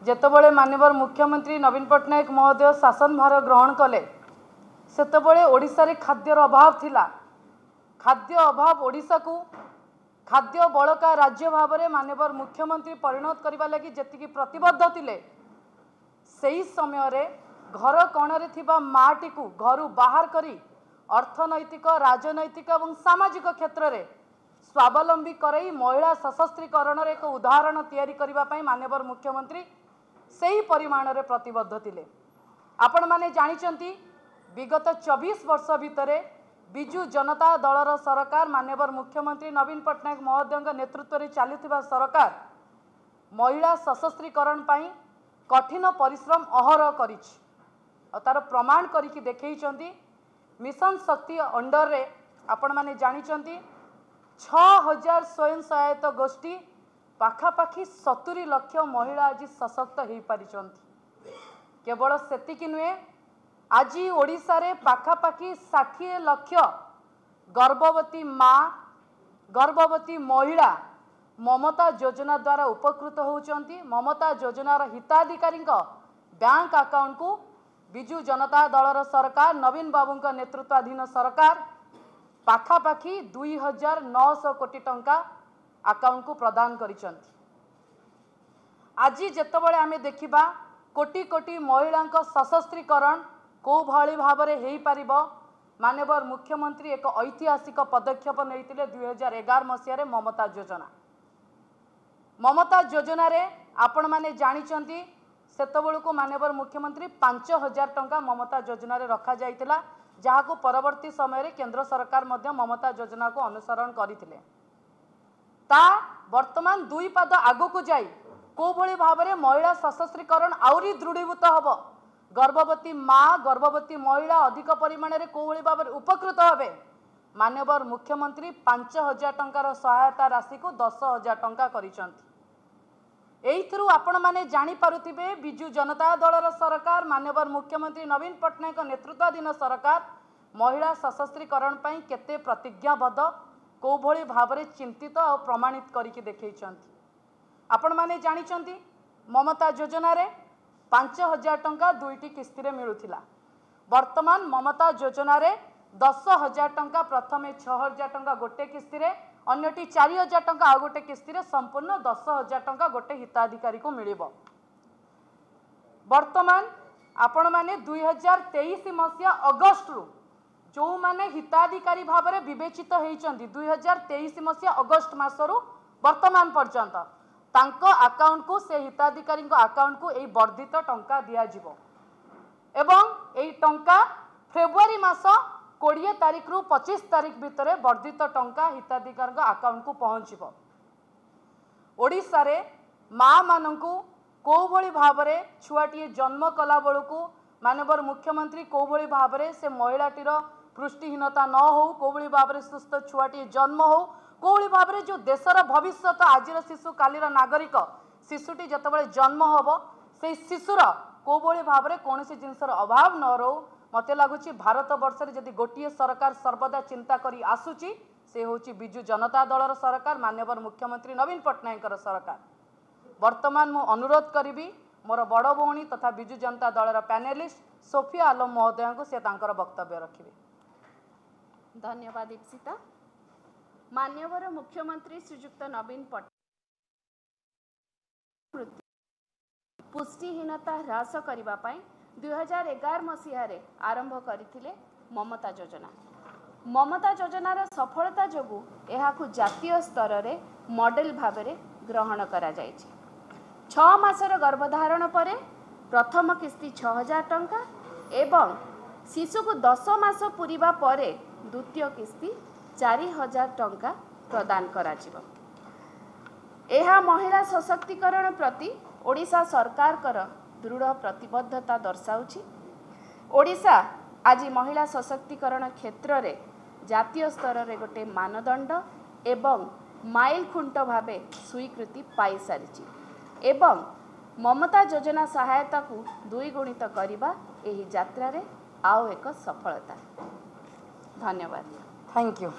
ଯେତେବେଳେ ମାନ୍ୟବର ମୁଖ୍ୟମନ୍ତ୍ରୀ ନବୀନ ପଟ୍ଟନାୟକ ମହୋଦୟ ଶାସନ ଭାର ଗ୍ରହଣ କଲେ, ସେତେବେଳେ ଓଡ଼ିଶାରେ ଖାଦ୍ୟର ଅଭାବ ଥିଲା। ଖାଦ୍ୟ ଅଭାବ ଓଡ଼ିଶାକୁ ଖାଦ୍ୟ ବଳକା ରାଜ୍ୟ ଭାବରେ ମାନ୍ୟବର ମୁଖ୍ୟମନ୍ତ୍ରୀ ପରିଣତ କରିବା ଲାଗି ଯେତିକି ପ୍ରତିବଦ୍ଧ ଥିଲେ, ସେହି ସମୟରେ ଘର କୋଣରେ ଥିବା ମାଟିକୁ ଘରୁ ବାହାର କରି ଅର୍ଥନୈତିକ, ରାଜନୈତିକ ଏବଂ ସାମାଜିକ କ୍ଷେତ୍ରରେ ସ୍ୱାବଲମ୍ବୀ କରାଇ ମହିଳା ସଶକ୍ତିକରଣର ଏକ ଉଦାହରଣ ତିଆରି କରିବା ପାଇଁ ମାନ୍ୟବର ମୁଖ୍ୟମନ୍ତ୍ରୀ ସେହି ପରିମାଣରେ ପ୍ରତିବଦ୍ଧ ଥିଲେ। ଆପଣମାନେ ଜାଣିଛନ୍ତି, ବିଗତ 24 ବର୍ଷ ଭିତରେ ବିଜୁ ଜନତା ଦଳର ସରକାର, ମାନ୍ୟବର ମୁଖ୍ୟମନ୍ତ୍ରୀ ନବୀନ ପଟ୍ଟନାୟକ ମହୋଦୟଙ୍କ ନେତୃତ୍ୱରେ ଚାଲିଥିବା ସରକାର ମହିଳା ସଶକ୍ତିକରଣ ପାଇଁ କଠିନ ପରିଶ୍ରମ ଅହରହ କରିଛି ଆଉ ତାର ପ୍ରମାଣ କରିକି ଦେଖେଇଛନ୍ତି। ମିଶନ ଶକ୍ତି ଅଣ୍ଡରରେ ଆପଣମାନେ ଜାଣିଛନ୍ତି, 6000 ସ୍ୱୟଂ ସହାୟକ ଗୋଷ୍ଠୀ, ପାଖାପାଖି 70 ଲକ୍ଷ ମହିଳା ଆଜି ସଶକ୍ତ ହୋଇପାରିଛନ୍ତି। କେବଳ ସେତିକି ନୁହେଁ, ଆଜି ଓଡ଼ିଶାରେ ପାଖାପାଖି 60 ଲକ୍ଷ ଗର୍ଭବତୀ ମା, ଗର୍ଭବତୀ ମହିଳା ମମତା ଯୋଜନା ଦ୍ୱାରା ଉପକୃତ ହେଉଛନ୍ତି। ମମତା ଯୋଜନାର ହିତାଧିକାରୀଙ୍କ ବ୍ୟାଙ୍କ ଆକାଉଣ୍ଟକୁ ବିଜୁ ଜନତା ଦଳର ସରକାର, ନବୀନ ବାବୁଙ୍କ ନେତୃତ୍ୱାଧୀନ ସରକାର ପାଖାପାଖି 2900 କୋଟି ଟଙ୍କା ଆକାଉଣ୍ଟକୁ ପ୍ରଦାନ କରିଛନ୍ତି। ଆଜି ଯେତେବେଳେ ଆମେ ଦେଖିବା କୋଟି କୋଟି ମହିଳାଙ୍କ ସଶକ୍ତିକରଣ କେଉଁଭଳି ଭାବରେ ହେଇପାରିବ, ମାନ୍ୟବର ମୁଖ୍ୟମନ୍ତ୍ରୀ ଏକ ଐତିହାସିକ ପଦକ୍ଷେପ ନେଇଥିଲେ 2011 ମସିହାରେ ମମତା ଯୋଜନା। ମମତା ଯୋଜନାରେ ଆପଣମାନେ ଜାଣିଛନ୍ତି, ସେତେବେଳକୁ ମାନ୍ୟବର ମୁଖ୍ୟମନ୍ତ୍ରୀ 5000 ଟଙ୍କା ମମତା ଯୋଜନାରେ ରଖାଯାଇଥିଲା, ଯାହାକୁ ପରବର୍ତ୍ତୀ ସମୟରେ କେନ୍ଦ୍ର ସରକାର ମଧ୍ୟ ମମତା ଯୋଜନାକୁ ଅନୁସରଣ କରିଥିଲେ। ତା ବର୍ତ୍ତମାନ ଦୁଇ ପାଦ ଆଗକୁ ଯାଇ କେଉଁଭଳି ଭାବରେ ମହିଳା ସଶକ୍ତିକରଣ ଆହୁରି ଦୃଢ଼ୀଭୂତ ହେବ, ଗର୍ଭବତୀ ମା, ଗର୍ଭବତୀ ମହିଳା ଅଧିକ ପରିମାଣରେ କେଉଁଭଳି ଭାବରେ ଉପକୃତ ହେବେ, ମାନ୍ୟବର ମୁଖ୍ୟମନ୍ତ୍ରୀ 5000 ଟଙ୍କାର ସହାୟତା ରାଶିକୁ 10,000 ଟଙ୍କା କରିଛନ୍ତି। ଏଇଥିରୁ ଆପଣମାନେ ଜାଣିପାରୁଥିବେ, ବିଜୁ ଜନତା ଦଳର ସରକାର, ମାନ୍ୟବର ମୁଖ୍ୟମନ୍ତ୍ରୀ ନବୀନ ପଟ୍ଟନାୟକ ନେତୃତ୍ୱାଧୀନ ସରକାର ମହିଳା ସଶକ୍ତିକରଣ ପାଇଁ କେତେ ପ୍ରତିଜ୍ଞାବଦ୍ଧ, କେଉଁଭଳି ଭାବରେ ଚିନ୍ତିତ ଆଉ ପ୍ରମାଣିତ କରିକି ଦେଖେଇଛନ୍ତି। ଆପଣମାନେ ଜାଣିଛନ୍ତି, ମମତା ଯୋଜନାରେ 5000 ଟଙ୍କା ଦୁଇଟି କିସ୍ତିରେ ମିଳୁଥିଲା। ବର୍ତ୍ତମାନ ମମତା ଯୋଜନାରେ 10,000 ଟଙ୍କା, ପ୍ରଥମେ 6000 ଟଙ୍କା ଗୋଟେ କିସ୍ତିରେ, ଅନ୍ୟଟି 4000 ଟଙ୍କା ଆଉ ଗୋଟେ କିସ୍ତିରେ, ସମ୍ପୂର୍ଣ୍ଣ 10,000 ଟଙ୍କା ଗୋଟେ ହିତାଧିକାରୀକୁ ମିଳିବ। ବର୍ତ୍ତମାନ ଆପଣମାନେ 2023 ମସିହା ଅଗଷ୍ଟରୁ ଯେଉଁମାନେ ହିତାଧିକାରୀ ଭାବରେ ବିବେଚିତ ହେଇଛନ୍ତି, 2023 ମସିହା ଅଗଷ୍ଟ ମାସରୁ ବର୍ତ୍ତମାନ ପର୍ଯ୍ୟନ୍ତ ତାଙ୍କ ଆକାଉଣ୍ଟକୁ, ସେ ହିତାଧିକାରୀଙ୍କ ଆକାଉଣ୍ଟକୁ ଏଇ ବର୍ଦ୍ଧିତ ଟଙ୍କା ଦିଆଯିବ ଏବଂ ଏଇ ଟଙ୍କା ଫେବୃଆରୀ ମାସ 20 ତାରିଖରୁ 25 ତାରିଖ ଭିତରେ ବର୍ଦ୍ଧିତ ଟଙ୍କା ହିତାଧିକାରୀଙ୍କ ଆକାଉଣ୍ଟକୁ ପହଞ୍ଚିବ। ଓଡ଼ିଶାରେ ମାଆମାନଙ୍କୁ କେଉଁଭଳି ଭାବରେ ଛୁଆଟିଏ ଜନ୍ମ କଲା ବେଳକୁ ମାନ୍ୟବର ମୁଖ୍ୟମନ୍ତ୍ରୀ କେଉଁଭଳି ଭାବରେ ସେ ମହିଳାଟିର ପୃଷ୍ଟିହୀନତା ନ ହେଉ, କେଉଁଭଳି ଭାବରେ ସୁସ୍ଥ ଛୁଆଟିଏ ଜନ୍ମ ହେଉ, କେଉଁଭଳି ଭାବରେ ଯେଉଁ ଦେଶର ଭବିଷ୍ୟତ, ଆଜିର ଶିଶୁ କାଲିର ନାଗରିକ, ଶିଶୁଟି ଯେତେବେଳେ ଜନ୍ମ ହେବ ସେଇ ଶିଶୁର କେଉଁଭଳି ଭାବରେ କୌଣସି ଜିନିଷର ଅଭାବ ନ ରହୁ, ମୋତେ ଲାଗୁଛି ଭାରତ ବର୍ଷରେ ଯଦି ଗୋଟିଏ ସରକାର ସର୍ବଦା ଚିନ୍ତା କରି ଆସୁଛି, ସେ ହେଉଛି ବିଜୁ ଜନତା ଦଳର ସରକାର, ମାନ୍ୟବର ମୁଖ୍ୟମନ୍ତ୍ରୀ ନବୀନ ପଟ୍ଟନାୟକଙ୍କର ସରକାର। ବର୍ତ୍ତମାନ ମୁଁ ଅନୁରୋଧ କରିବି ମୋର ବଡ଼ ଭଉଣୀ ତଥା ବିଜୁ ଜନତା ଦଳର ପ୍ୟାନେଲିଷ୍ଟ ସୋଫିଆ ଆଲମ ମହୋଦୟଙ୍କୁ, ସେ ତାଙ୍କର ବକ୍ତବ୍ୟ ରଖିବେ। ଧନ୍ୟବାଦ ଇପ୍ସିତା। ମାନ୍ୟବର ମୁଖ୍ୟମନ୍ତ୍ରୀ ଶ୍ରୀଯୁକ୍ତ ନବୀନ ପଟ୍ଟନାୟକ ପୁଷ୍ଟିହୀନତା ହ୍ରାସ କରିବା ପାଇଁ 2011 ମସିହାରେ ଆରମ୍ଭ କରିଥିଲେ ମମତା ଯୋଜନା। ମମତା ଯୋଜନାର ସଫଳତା ଯୋଗୁଁ ଏହାକୁ ଜାତୀୟ ସ୍ତରରେ ମଡେଲ ଭାବରେ ଗ୍ରହଣ କରାଯାଇଛି। 6 ମାସର ଗର୍ଭଧାରଣ ପରେ ପ୍ରଥମ କିସ୍ତି 6000 ଟଙ୍କା ଏବଂ ଶିଶୁକୁ 10 ମାସ ପୂରିବା ପରେ ଦ୍ୱିତୀୟ କିସ୍ତି 4000 ଟଙ୍କା ପ୍ରଦାନ କରାଯିବ। ଏହା ମହିଳା ସଶକ୍ତିକରଣ ପ୍ରତି ଓଡ଼ିଶା ସରକାରଙ୍କର ଦୃଢ଼ ପ୍ରତିବଦ୍ଧତା ଦର୍ଶାଉଛି। ଓଡ଼ିଶା ଆଜି ମହିଳା ସଶକ୍ତିକରଣ କ୍ଷେତ୍ରରେ ଜାତୀୟ ସ୍ତରରେ ଗୋଟେ ମାନଦଣ୍ଡ ଏବଂ ମାଇଲ ଖୁଣ୍ଟ ଭାବେ ସ୍ୱୀକୃତି ପାଇସାରିଛି ଏବଂ ମମତା ଯୋଜନା ସହାୟତାକୁ ଦ୍ୱିଗୁଣିତ କରିବା ଏହି ଯାତ୍ରାରେ ଆଉ ଏକ ସଫଳତା। ଧନ୍ୟବାଦ। Thank you.